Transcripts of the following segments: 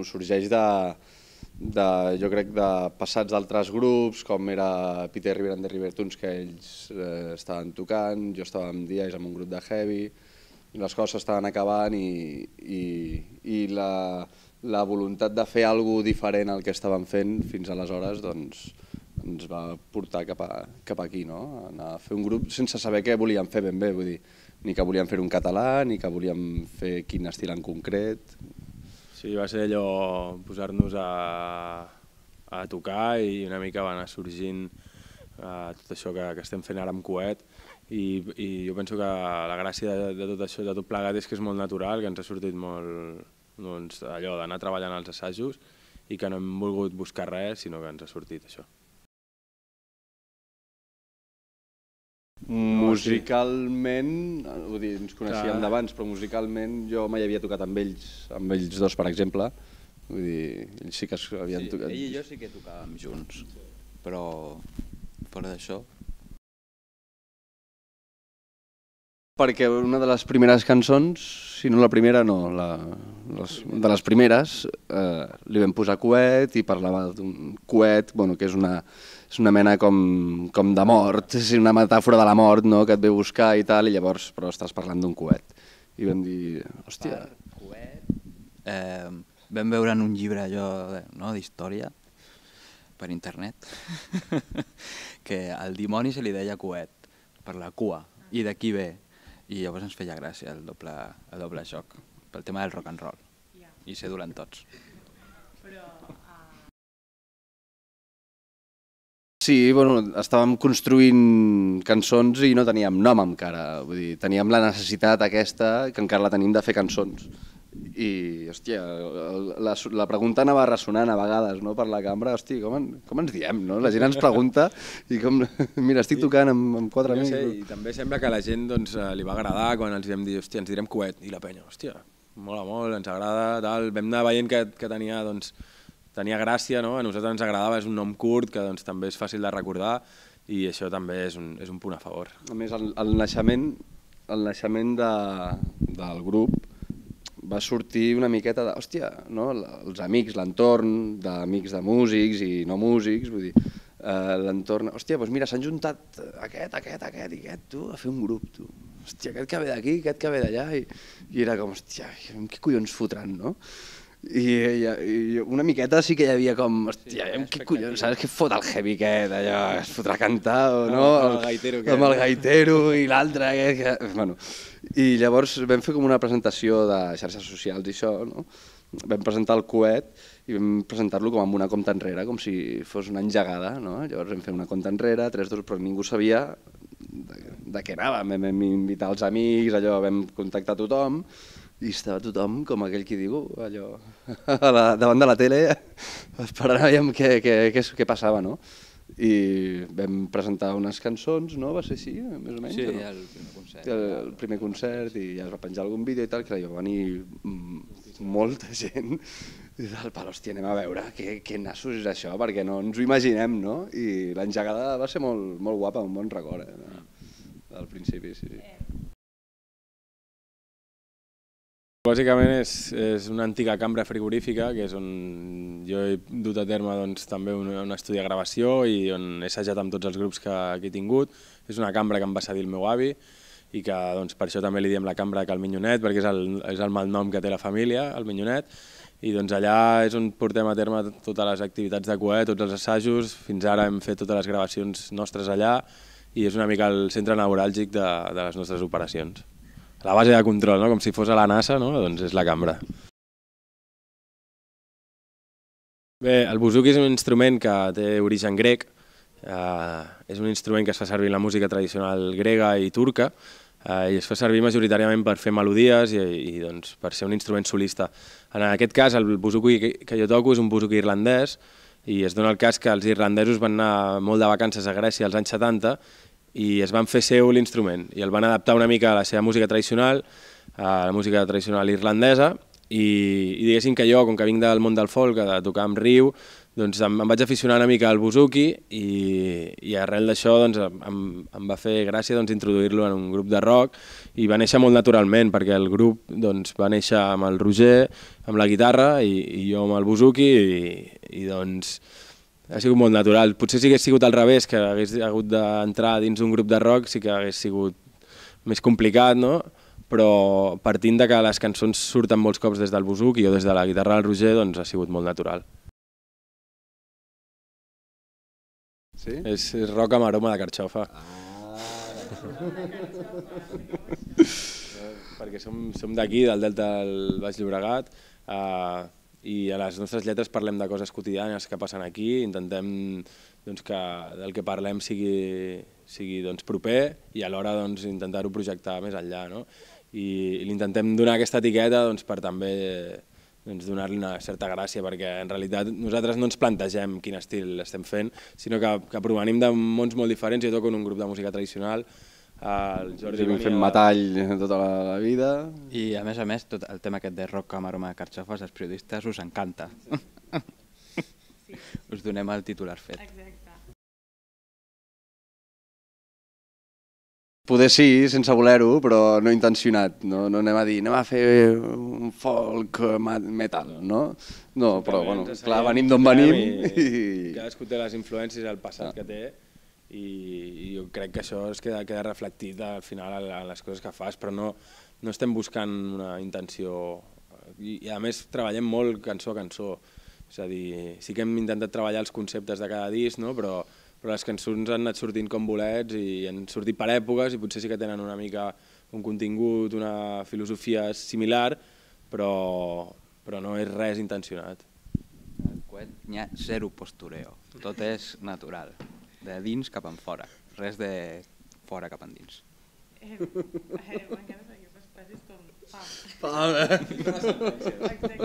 sorgeix jo crec, de passats d'altres grups, com era Peter River and the Rivertoons, que ells estaven tocant, jo estava amb Diaz amb un grup de heavy, les coses estaven acabant i la voluntat de fer alguna cosa diferent al que estàvem fent fins aleshores ens va portar cap aquí, no? Anar a fer un grup sense saber què volíem fer ben bé, vull dir, ni que volíem fer un català, ni que volíem fer quin estil en concret. Sí, va ser allò posar-nos a tocar i una mica va anar sorgint tot això que estem fent ara amb Coet i jo penso que la gràcia de tot això, de tot plegat, és que és molt natural, que ens ha sortit molt allò d'anar treballant als assajos i que no hem volgut buscar res, sinó que ens ha sortit això. Musicalment, vull dir, ens coneixíem d'abans, però musicalment jo mai havia tocat amb ells dos, per exemple. Vull dir, ells sí que havien tocat... Ell i jo sí que tocàvem junts, però fora d'això... Perquè una de les primeres cançons, si no la primera, no, de les primeres, li vam posar Coet i parlava d'un coet, que és una mena com de mort, és una metàfora de la mort que et ve a buscar i tal, i llavors però estàs parlant d'un coet. I vam dir, hòstia... Coet, vam veure en un llibre d'història per internet que al dimoni se li deia Coet, per la cua, i d'aquí ve. I llavors ens feia gràcia el doble joc, pel tema del rock and roll, i ser dolent tots. Sí, estàvem construint cançons i no teníem nom encara, vull dir, teníem la necessitat aquesta, que encara la tenim, de fer cançons. I, hòstia, la pregunta anava ressonant a vegades per la cambra, hòstia, com ens diem, no? La gent ens pregunta i com, mira, estic tocant amb quatre amics. I també sembla que a la gent li va agradar quan els vam dir, hòstia, ens direm Coet, i la penya, hòstia, mola molt, ens agrada, tal. Vam anar veient que tenia gràcia, no? A nosaltres ens agradava, és un nom curt que també és fàcil de recordar i això també és un punt a favor. A més, el naixement del grup va sortir una miqueta de, hòstia, els amics, l'entorn d'amics de músics i no músics, vull dir, l'entorn, hòstia, doncs mira, s'han juntat aquest i aquest, tu, a fer un grup, tu. Hòstia, aquest que ve d'aquí, aquest que ve d'allà, i era com, hòstia, què collons fotran, no? I una miqueta sí que hi havia com, hòstia, què collons, saps què fot el heavy aquest, allò, es fotrà a cantar o no? Amb el gaitero i l'altre, bueno... I llavors vam fer com una presentació de xarxes socials i això, no? Vam presentar el Coet i vam presentar-lo com amb una compta enrere, com si fos una engegada, no? Llavors vam fer una compta enrere, 3-2, però ningú sabia de què anàvem. Vam invitar els amics, allò, vam contactar tothom i estava tothom, com aquell qui diu, allò, davant de la tele, esperant a veure què passava, no? I vam presentar unes cançons, no? Va ser així, més o menys? Sí, el primer concert. El primer concert i ja es va penjar algun vídeo i tal, que va venir molta gent i tal, però hòstia, anem a veure què nassos és això, perquè no ens ho imaginem, no? I l'engegada va ser molt guapa, un bon record, del principi, sí. Bàsicament és una antiga cambra frigorífica, que és on jo he dut a terme també un estudi de gravació i on he assajat amb tots els grups que he tingut. És una cambra que em va cedir el meu avi i que per això també li diem la cambra que el Minyonet, perquè és el malnom que té la família, el Minyonet. I allà és on portem a terme totes les activitats de Coet, tots els assajos. Fins ara hem fet totes les gravacions nostres allà i és una mica el centre neuràlgic de les nostres operacions. La base de control, com si fos a la NASA, doncs és la cambra. Bé, el buzuki és un instrument que té origen grec, és un instrument que es fa servir en la música tradicional grega i turca i es fa servir majoritàriament per fer melodies i per ser un instrument solista. En aquest cas, el buzuki que jo toco és un buzuki irlandès i es dona el cas que els irlandesos van anar molt de vacances a Grècia als anys 70 i es van fer seu l'instrument i el van adaptar una mica a la seva música tradicional, a la música tradicional irlandesa i diguéssim que jo, com que vinc del món del folk, de tocar amb riu, doncs em vaig aficionar una mica al buzuki i arrel d'això doncs, em va fer gràcia doncs, introduir-lo en un grup de rock i va néixer molt naturalment perquè el grup doncs, va néixer amb el Roger, amb la guitarra i jo amb el buzuki i doncs ha sigut molt natural. Potser si hagués sigut al revés, que hagués hagut d'entrar dins un grup de rock sí que hagués sigut més complicat, no? Però partint de que les cançons surten molts cops des del buzuki o des de la guitarra del Roger, doncs ha sigut molt natural. Sí? És rock amb aroma de carxofa. Perquè som d'aquí, del Delta del Baix Llobregat, i a les nostres lletres parlem de coses quotidianes que passen aquí, intentem doncs, que del que parlem sigui doncs, proper i alhora doncs, intentar-ho projectar més enllà. No? I l'intentem donar aquesta etiqueta doncs, per també doncs, donar-li una certa gràcia, perquè en realitat nosaltres no ens plantegem quin estil estem fent, sinó que provenim de mons molt diferents. Jo toco en un grup de música tradicional, el Jordi hem fet metall tota la vida. I a més, tot el tema aquest de rock amb aroma de carxofes, als periodistes us encanta. Sí. Us donem el titular fet. Exacte. Poder sí, sense voler-ho, però no intencionat. No anem a dir, anem a fer un folk metal, no? No, però bueno, clar, venim d'on venim. Cadascú té les influències del passat que té i jo crec que això es queda reflectit al final a les coses que fas, però no estem buscant una intenció. I a més treballem molt cançó a cançó. És a dir, sí que hem intentat treballar els conceptes de cada disc, no? Però les cançons han anat sortint com bolets i han sortit per èpoques i potser sí que tenen una mica un contingut, una filosofia similar, però no és res intencionat. Al coet n'hi ha zero postureo, tot és natural, de dins cap en fora, res de fora cap endins. M'encanten aquestes frases com pam. Pam! Exacte.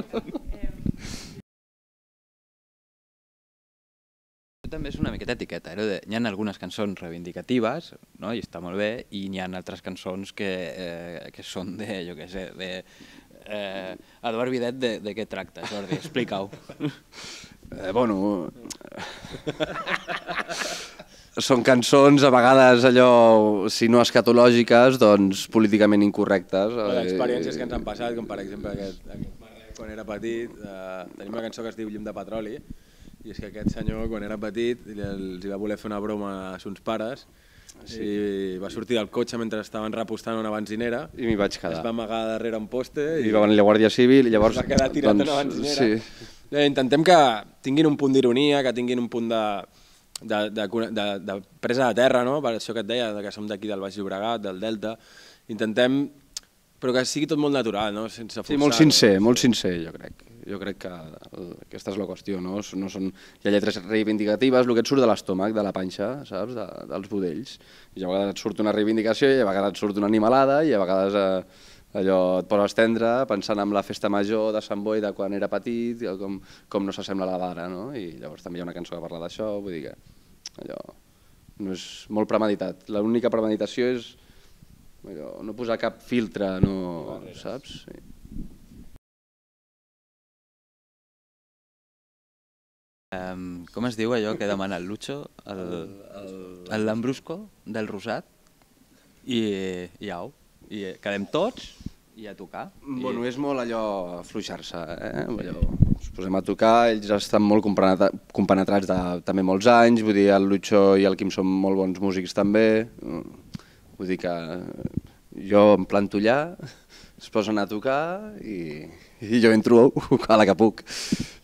També és una miqueta etiqueta, n'hi ha algunes cançons reivindicatives, no? I està molt bé, i n'hi ha altres cançons que són de, jo què sé, de... Eduard Videt, de què tracta, Jordi? Explica-ho. Bueno... Són cançons a vegades allò, si no escatològiques, doncs políticament incorrectes. Experiències que ens han passat, com per exemple aquest quan era petit, tenim una cançó que es diu Llum de petroli, i és que aquest senyor, quan era petit, els va voler fer una broma a sos pares i va sortir del cotxe mentre estaven repostant una benzinera i m'hi vaig quedar. Es va amagar darrere un poste i va venir la Guàrdia Civil i llavors... Es va quedar tirat en una benzinera. Sí. Intentem que tinguin un punt d'ironia, que tinguin un punt de presa de terra, no? Per això que et deia, que som d'aquí del Baix Llobregat, del Delta. Intentem, però que sigui tot molt natural, no? Sense forçar. Sí, molt sincer, jo crec. Jo crec que aquesta és la qüestió, no? Hi ha lletres reivindicatives, el que et surt de l'estómac, de la panxa, saps? Dels budells. I a vegades et surt una reivindicació, i a vegades et surt una animalada, i a vegades allò et poses tendre pensant en la festa major de Sant Boi de quan era petit, com no s'assembla a la d'ara, no? I llavors també hi ha una cançó que parla d'això, vull dir que allò no és molt premeditat. L'única premeditació és allò, no posar cap filtre, no, saps? Sí. Com es diu allò que demana el Lucho? El Lambrusco del Rosat? I au. I quedem tots i a tocar. Bueno, és molt allò afluixar-se, ens posem a tocar, ells estan molt compenetrats de també molts anys, vull dir, el Lucho i el Quim són molt bons músics també, vull dir que jo em planto allà, es posen a tocar i jo entro a la que puc.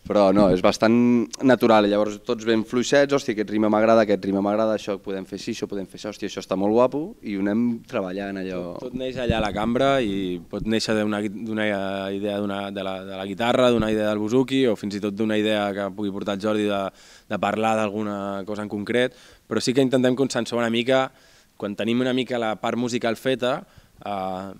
Però no, és bastant natural, llavors tots ben fluixets, hòstia, aquest rima m'agrada, això podem fer així, això podem fer això, hòstia, això està molt guapo, i ho anem treballant allò... Tot neix allà a la cambra i pot néixer d'una idea de la guitarra, d'una idea del buzuki, o fins i tot d'una idea que pugui portar el Jordi de parlar d'alguna cosa en concret, però sí que intentem consensuar una mica, quan tenim una mica la part musical feta,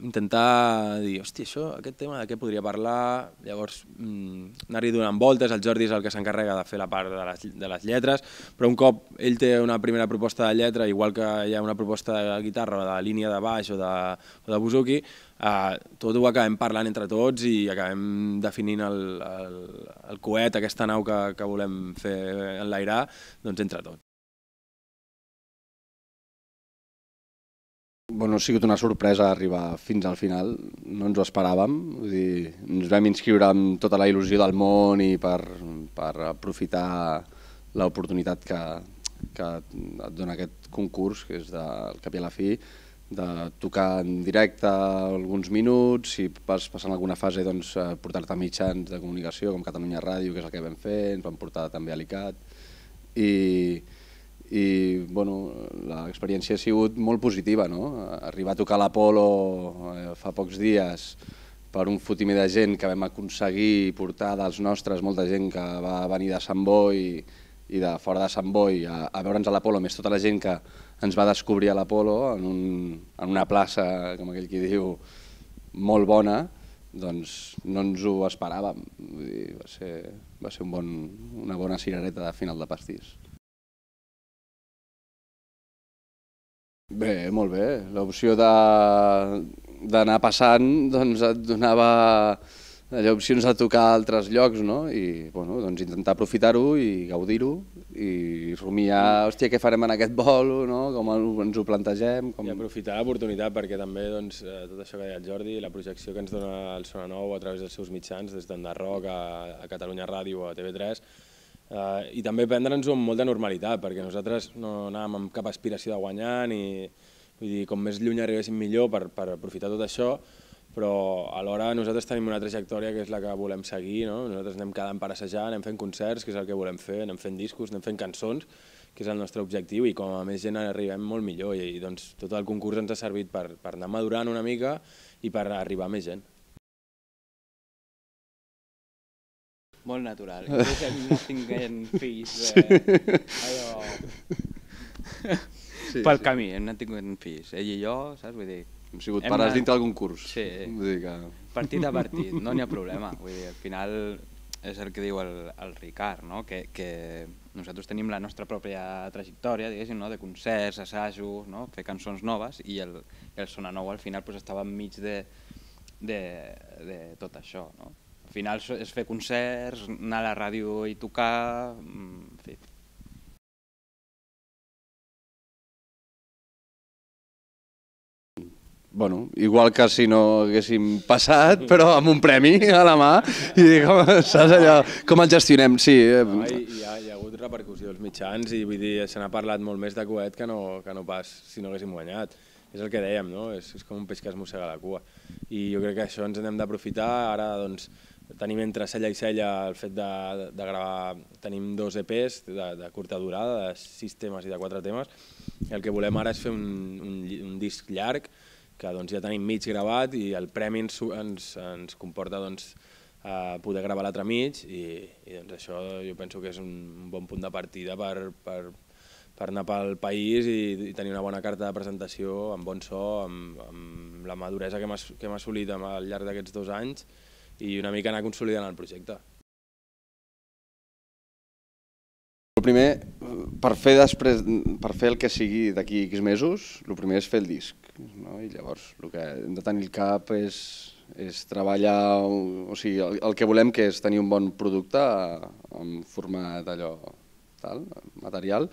intentar dir, hòstia, aquest tema de què podria parlar, llavors anar-hi donant voltes, el Jordi és el que s'encarrega de fer la part de les lletres, però un cop ell té una primera proposta de lletra, igual que hi ha una proposta de guitarra o de línia de baix o de buzuki, tot ho acabem parlant entre tots i acabem definint el coet, aquesta nau que volem fer enlairar, doncs entre tots. Bueno, ha sigut una sorpresa arribar fins al final, no ens ho esperàvem, vull dir, ens vam inscriure amb tota la il·lusió del món i per aprofitar l'oportunitat que et dona aquest concurs, que és del cap i a la fi, de tocar en directe alguns minuts, si vas passant alguna fase doncs, portar-te a mitjans de comunicació com Catalunya Ràdio, que és el que vam fer, ens vam portar també a l'ICAT, i bueno, l'experiència ha sigut molt positiva, no? Arribar a tocar l'Apolo fa pocs dies per un fotimer de gent que vam aconseguir portar dels nostres, molta gent que va venir de Sant Boi i de fora de Sant Boi a veure'ns a l'Apolo, més tota la gent que ens va descobrir a l'Apolo en una plaça, com aquell qui diu, molt bona, doncs no ens ho esperàvem. Vull dir, va ser una bona cirereta de final de pastís. Bé, molt bé. L'opció d'anar passant doncs et donava opcions de tocar a altres llocs, no? I bueno, doncs intentar aprofitar-ho i gaudir-ho i rumiar, hòstia, què farem en aquest vol, no? Com ens ho plantegem. I aprofitar l'oportunitat perquè també tot això que deia el Jordi, la projecció que ens dona el Sona Nou a través dels seus mitjans, des d'Enderroc a Catalunya Ràdio o a TV3, i també prendre'ns-ho amb molta normalitat, perquè nosaltres no anàvem amb cap aspiració de guanyar, ni vull dir, com més lluny arribéssim millor per aprofitar tot això, però alhora nosaltres tenim una trajectòria que és la que volem seguir, no? Nosaltres anem quedant per assajar, anem fent concerts, que és el que volem fer, anem fent discos, anem fent cançons, que és el nostre objectiu, i com a més gent arribem molt millor, i doncs tot el concurs ens ha servit per anar madurant una mica i per arribar a més gent. Molt natural. No tinguem fills allò... Pel camí, hem anat tinguent fills. Ell i jo, saps? Vull dir... Hem sigut pares dintre del concurs. Sí. Vull dir que... Partit a partit, no n'hi ha problema. Vull dir, al final és el que diu el Ricard, no? Que nosaltres tenim la nostra pròpia trajectòria, diguéssim, no? De concerts, assajos, no? Fer cançons noves, i el Sona Nou al final pues, estava enmig de tot això, no? Al final és fer concerts, anar a la ràdio i tocar, en fi. Bueno, igual que si no haguéssim passat, però amb un premi a la mà, i saps allò, com el gestionem? Sí. Hi ha hagut repercussió als mitjans i vull dir, se n'ha parlat molt més de coet que no pas si no haguéssim guanyat. És el que dèiem, no? És com un peix que es mossega la cua. I jo crec que això ens n'hem d'aprofitar. Ara doncs, tenim entre cella i cella el fet de gravar, tenim 2 EPs de curta durada, de 6 temes i de 4 temes, i el que volem ara és fer un disc llarg, que doncs, ja tenim mig gravat, i el premi ens comporta doncs, poder gravar l'altre mig, i doncs, això jo penso que és un bon punt de partida per anar pel país i tenir una bona carta de presentació, amb bon so, amb la maduresa que hem assolit al llarg d'aquests 2 anys, i una mica anar consolidant el projecte. El primer, per fer el que sigui d'aquí X mesos, el primer és fer el disc. I llavors el que hem de tenir al cap és treballar, o sigui, el que volem que és tenir un bon producte en format d'allò material.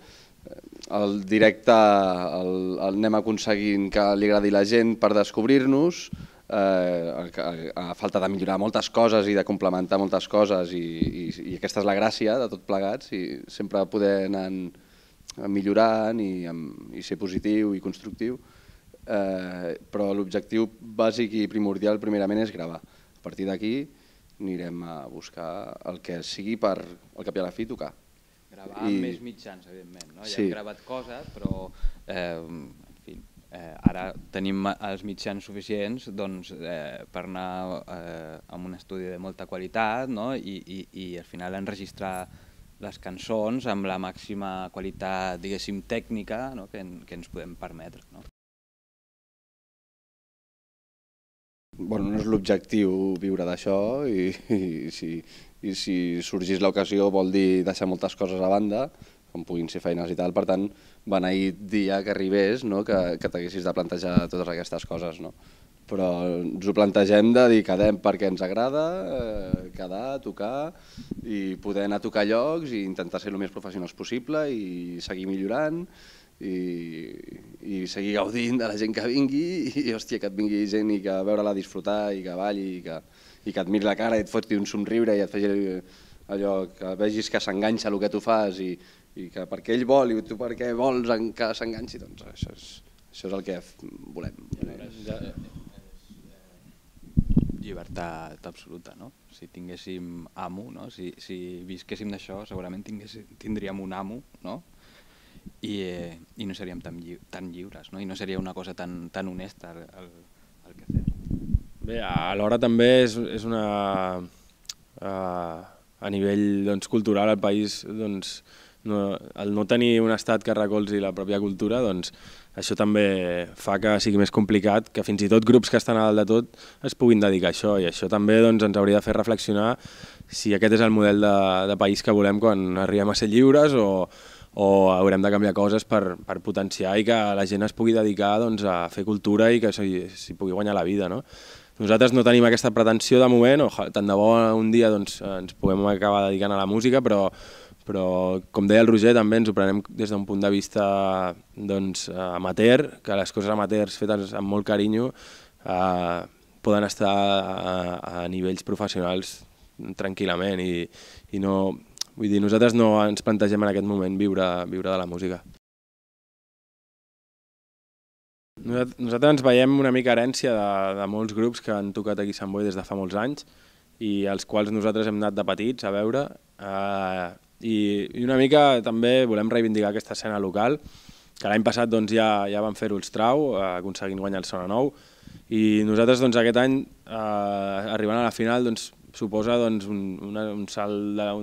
El directe anem aconseguint que li agradi a la gent per descobrir-nos, a falta de millorar moltes coses i de complementar moltes coses, i aquesta és la gràcia de tot plegats, i sempre poder anar millorant i ser positiu i constructiu, però l'objectiu bàsic i primordial primerament és gravar. A partir d'aquí anirem a buscar el que sigui per al cap i a la fi tocar. Gravar amb més mitjans, evidentment, no? Ja hem gravat coses, però ara tenim els mitjans suficients per anar a un estudi de molta qualitat, i al final enregistrar les cançons amb la màxima qualitat, diguéssim, tècnica que ens podem permetre. Bueno, no és l'objectiu viure d'això, i si sorgís l'ocasió vol dir deixar moltes coses a banda, com puguin ser feines i tal, per tant, beneït dia que arribés, que t'haguessis de plantejar totes aquestes coses. però ens ho plantegem de dir quedem perquè ens agrada, quedar, tocar i poder anar a tocar llocs i intentar ser el més professionals possible i seguir millorant i seguir gaudint de la gent que vingui i hòstia, que et vingui gent i que veure-la disfrutar i que balli i que et miri la cara i et foti un somriure i et faci allò que vegis que s'enganxa el que tu fas i que perquè ell vol i tu perquè vols que s'enganxi, doncs això és el que volem. Llibertat absoluta, no? Si tinguéssim amo, no? Si visquéssim d'això, segurament tindríem un amo, no? I no seríem tan lliures, no? I no seria una cosa tan honesta el que fem. Bé, alhora també és una... A nivell cultural al país, el no tenir un estat que recolzi la pròpia cultura, això també fa que sigui més complicat, que fins i tot grups que estan a dalt de tot es puguin dedicar a això, i això també ens hauria de fer reflexionar si aquest és el model de país que volem quan arribem a ser lliures o haurem de canviar coses per potenciar i que la gent es pugui dedicar a fer cultura i que s'hi pugui guanyar la vida. Nosaltres no tenim aquesta pretensió de moment, tant de bo un dia ens puguem acabar dedicant a la música, però com deia el Roger també ens ho prenem des d'un punt de vista amateur, que les coses amateurs fetes amb molt carinyo poden estar a nivells professionals tranquil·lament i no... Vull dir, nosaltres no ens plantegem en aquest moment viure de la música. Nosaltres ens veiem una mica herència de molts grups que han tocat aquí a Sant Boi des de fa molts anys i als quals nosaltres hem anat de petits a veure i una mica també volem reivindicar aquesta escena local, que l'any passat ja vam fer-ho els Trau, aconseguint guanyar el Sona Nou, i nosaltres aquest any, arribant a la final, suposa un salt, o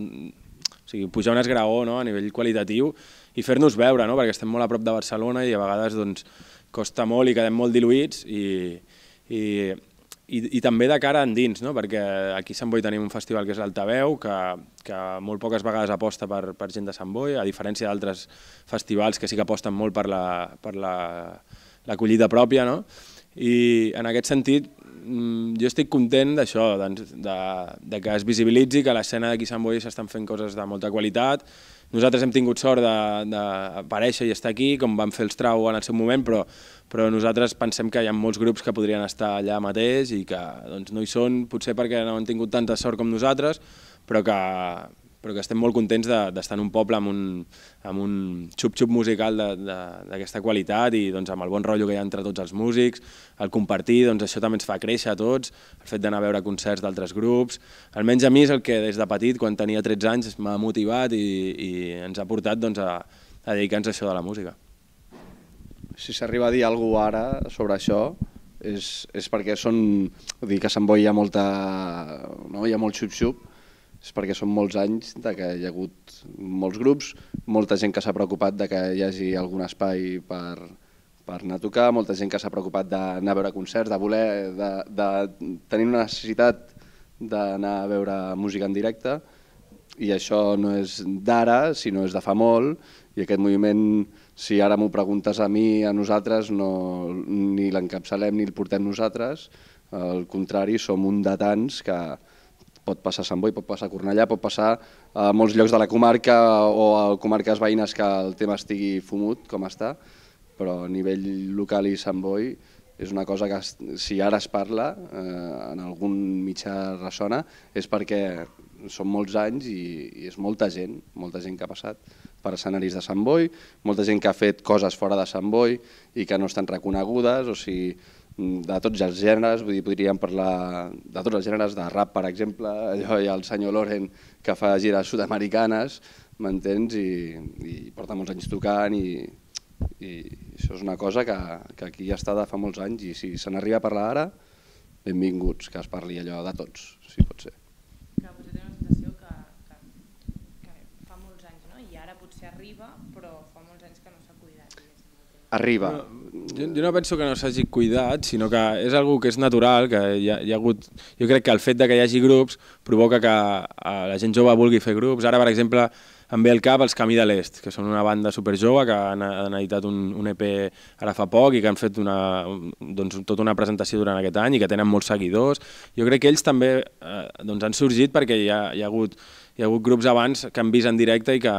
sigui, pujar un esgraó a nivell qualitatiu i fer-nos veure, perquè estem molt a prop de Barcelona i a vegades costa molt i quedem molt diluïts i també de cara endins, perquè aquí a Sant Boi tenim un festival que és l'Altaveu, que molt poques vegades aposta per gent de Sant Boi, a diferència d'altres festivals que sí que aposten molt per l'acollida pròpia, i en aquest sentit jo estic content d'això, que es visibilitzi, que a l'escena d'aquí a Sant Boi s'estan fent coses de molta qualitat. Nosaltres hem tingut sort d'aparèixer i estar aquí, com vam fer els Trau en el seu moment, però nosaltres pensem que hi ha molts grups que podrien estar allà mateix i que no hi són, potser perquè no han tingut tanta sort com nosaltres, però que estem molt contents d'estar en un poble amb un xup-xup musical d'aquesta qualitat i amb el bon rotllo que hi ha entre tots els músics, el compartir, això també ens fa créixer a tots, el fet d'anar a veure concerts d'altres grups, almenys a mi és el que des de petit, quan tenia 13 anys, m'ha motivat i ens ha portat a dedicar-nos a això de la música. Si s'arriba a dir alguna cosa ara sobre això, és perquè vull dir que a Sant Boi hi ha molt xup-xup, és perquè són molts anys que hi ha hagut molts grups, molta gent que s'ha preocupat que hi hagi algun espai per anar a tocar, molta gent que s'ha preocupat d'anar a veure concerts, de tenir una necessitat d'anar a veure música en directe, i això no és d'ara, sinó és de fa molt, i aquest moviment, si ara m'ho preguntes a mi, a nosaltres, ni l'encapçalem ni el portem nosaltres, al contrari, som un de tants que pot passar a Sant Boi, pot passar a Cornellà, pot passar a molts llocs de la comarca o a comarques veïnes que el tema estigui fumut, com està, però a nivell local i Sant Boi és una cosa que si ara es parla, en algun mitjà ressona, és perquè són molts anys i és molta gent que ha passat per escenaris de Sant Boi, molta gent que ha fet coses fora de Sant Boi i que no estan reconegudes, o sigui, de tots els gèneres, podríem parlar de tots els gèneres, de rap, per exemple, allò hi ha el senyor Loren que fa gires sud-americanes, m'entens, i porta molts anys tocant, i això és una cosa que aquí ja està de fa molts anys, i si se n'arriba a parlar ara, benvinguts, que es parli allò de tots, si pot ser. Que potser té una sensació que fa molts anys, no? I ara potser arriba, però fa molts anys que no s'ha cuidat. Arriba. Jo no penso que no s'hagi cuidat, sinó que és algo que és natural, que hi ha hagut... Jo crec que el fet de que hi hagi grups provoca que la gent jove vulgui fer grups. Ara, per exemple, em ve al cap els Camí de l'Est, que són una banda superjove que han editat un EP ara fa poc i que han fet tota una presentació durant aquest any i que tenen molts seguidors. Jo crec que ells també han sorgit perquè hi ha hagut grups abans que han vist en directe i que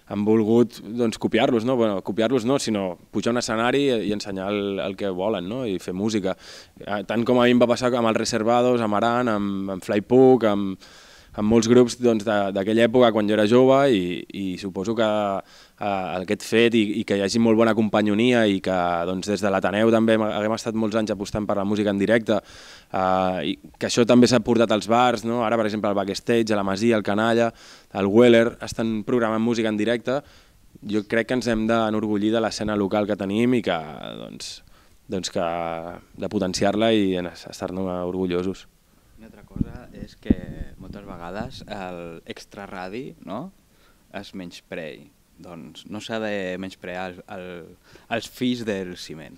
han volgut copiar-los, no? Bueno, copiar-los no, sinó pujar a un escenari i ensenyar el que volen, no? I fer música. Tant com a mi em va passar amb els Reservados, amb Aran, amb Flypuck, amb molts grups d'aquella època quan jo era jove i suposo que aquest fet i que hi hagi molt bona companyonia i que des de l'Ateneu també haguem estat molts anys apostant per la música en directe, i que això també s'ha portat als bars, no? Ara per exemple al Backstage, a la Masia, al Canalla, al Weller, estan programant música en directe. Jo crec que ens hem d'enorgullir de l'escena local que tenim i que de potenciar-la i estar-ne orgullosos. Una altra cosa és que moltes vegades l'extraradi, no?, es menysprei. Doncs no s'ha de menysprear els fills del ciment.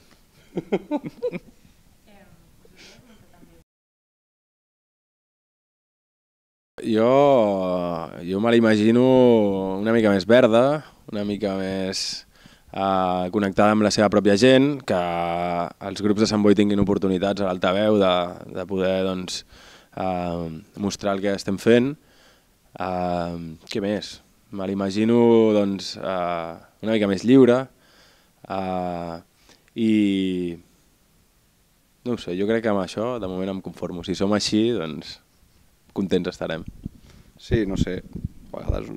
Jo me l'imagino una mica més verda, una mica més connectada amb la seva pròpia gent, que els grups de Sant Boi tinguin oportunitats a l'altaveu de poder mostrar el que estem fent. Què més? Me l'imagino una mica més lliure i no ho sé, jo crec que amb això de moment em conformo. Si som així, doncs contents estarem. Sí, no sé, a vegades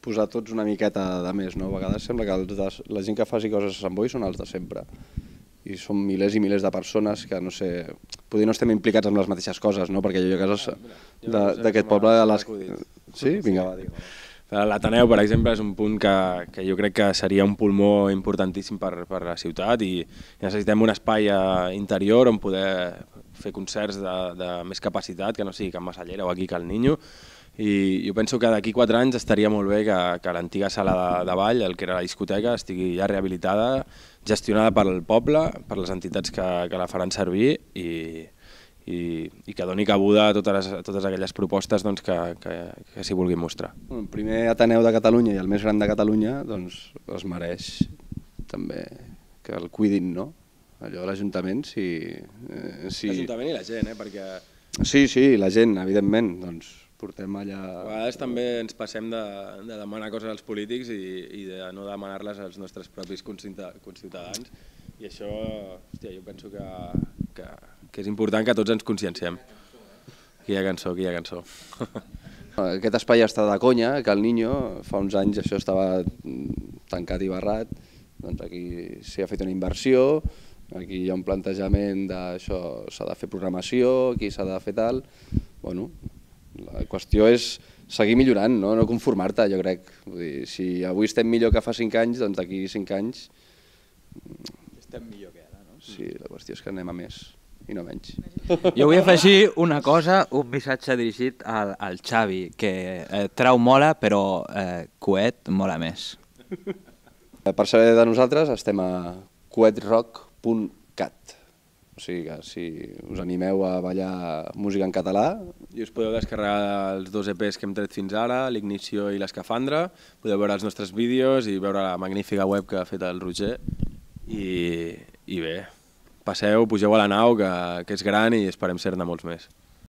posar tots una miqueta de més, no? A vegades sembla que la gent que faci coses a Sant Boi són els de sempre. I són milers i milers de persones que, no sé, potser no estem implicats amb les mateixes coses, no? Perquè jo a casa d'aquest poble... Sí? Vinga, va, digue. L'Ateneu, per exemple, és un punt que jo crec que seria un pulmó importantíssim per la ciutat i necessitem un espai interior on poder fer concerts de més capacitat, que no sigui Can Massallera o aquí Cal Niño. I jo penso que d'aquí 4 anys estaria molt bé que l'antiga sala de ball, el que era la discoteca, estigui ja rehabilitada, gestionada pel poble, per les entitats que la faran servir i que doni cabuda a totes aquelles propostes que s'hi vulguin mostrar. El primer Ateneu de Catalunya i el més gran de Catalunya es mereix també que el cuidin, no? Allò de l'Ajuntament, si... L'Ajuntament i la gent, perquè... Sí, la gent, evidentment, doncs portem allà... A vegades també ens passem de demanar coses als polítics i de no demanar-les als nostres propis conciutadans i això, hòstia, jo penso que és important que tots ens conscienciem. Quina cançó. Aquest espai està de conya, que el Niño, fa uns anys això estava tancat i barrat, doncs aquí s'hi ha fet una inversió, aquí hi ha un plantejament d'això, s'ha de fer programació, aquí s'ha de fer tal... Bueno, la qüestió és seguir millorant, no conformar-te, jo crec. Vull dir, si avui estem millor que fa 5 anys, doncs d'aquí 5 anys... Estem millor que ara, no? Sí, la qüestió és que anem a més i no menys. Jo vull afegir una cosa, un missatge dirigit al Xavi, que trau mola, però coet mola més. Per saber de nosaltres estem a coetrock.cat. O sigui que si us animeu a ballar música en català... I us podeu descarregar els 2 EPs que hem tret fins ara, l'Ignició i l'Escafandra, podeu veure els nostres vídeos i veure la magnífica web que ha fet el Roger. I bé, passeu, pugeu a la nau, que és gran i esperem ser-ne molts més.